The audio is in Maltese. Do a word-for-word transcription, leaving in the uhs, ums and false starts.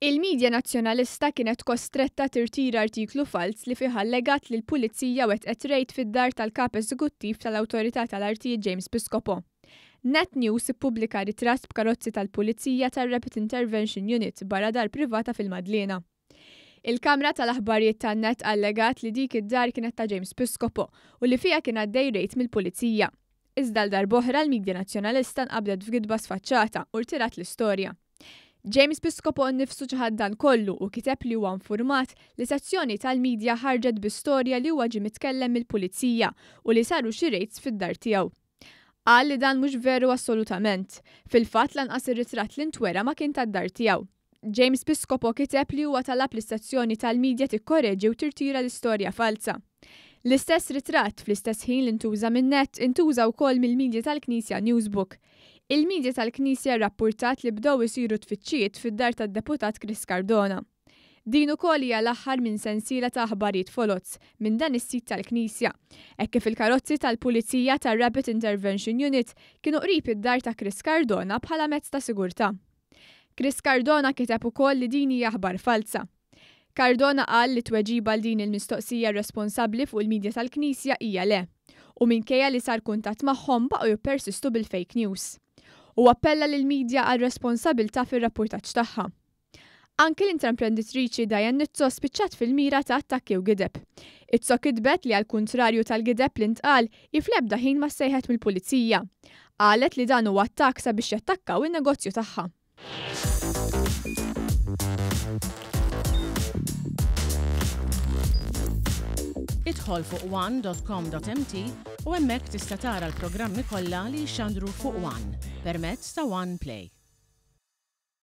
Il-midja Nazzjonalista kienet kostretta tirtira artiklu falz li fih allegat li l-Pulizija wettqet rejd fid-dar tal-Kap Eżekuttiv tal-Awtorità tal-Artijiet James Piscopo. Net News ippubblika ritratt b'karozzi tal-Pulizija tar-Rapid Intervention Unit barra dar privata fil-Madliena. Il-kamra tal-aħbarijiet tan-Net allegat li dik id-dar kienet ta' James Piscopo u li fiha kien għaddej rejd mill-Pulizija. Iżda għal darb'oħra l-midja Nazzjonalista nqabdet f'gidba sfaċċata u rtirat l-istorja. James Piscopo nnifsu ċaħad dan kollu u kiteb li huwa infurmat li sezzjoni tal-midja ħarġet bi storja li huwa ġie mitkellem mill-Pulizija u li saru xi raids fid-dar tiegħu. Qal li dan mhux veru assolutament. Fil-fatt lanqas ir-ritratt li ntwera ma kien tad-dar tiegħu. James Piscopo kiteb li huwa talab lis-sezzjoni tal-midja tikkoreġi u tirtira l-istorja falsa. L-istess ritratt fl-istess ħin li ntuża minn Net intuża wkoll mill-midja tal-Knisja Newsbook. Il-midja tal-Knisja rrappurtat li bdew isiru tfittxijiet fid-dar tad-deputat Chris Cardona. Din ukoll hija l-aħħar minn sensiela ta' aħbarijiet foloz minn dan is-sit tal-Knisja, hekk kif il-karozzi tal-Pulizija tar-Rapid Intervention Unit kienu qrib id-dar ta' Chris Cardona bħala mezz ta' sigurtà. Chris Cardona kiteb ukoll li din hija aħbar falsa. Cardona qal li tweġiba għal din il-mistoqsija responsabbli fuq il-midja tal-Knisja hija le, u minkejja li sar kuntatt magħhom baqgħu jippersistu bil-fake news. U appella lill-midja għal responsabilità fir-rapportaġġ tagħha. Anki l-intraprenditriċi Diane Nizzo spiċċat fil-mira ta' attakki u gideb. Izzo kitbet li għal kuntrarju tal-gideb li ntqal hi fl-ebda ħin ma ssejħet mill-pulizija. Qalet li dan huwa attakk sabiex jattakkaw in-negozju tagħha. Idħol fuq one dot com dot m t u hemmhekk tista' tara l-programmi kollha li jxandru fuq One permezz ta' One Play.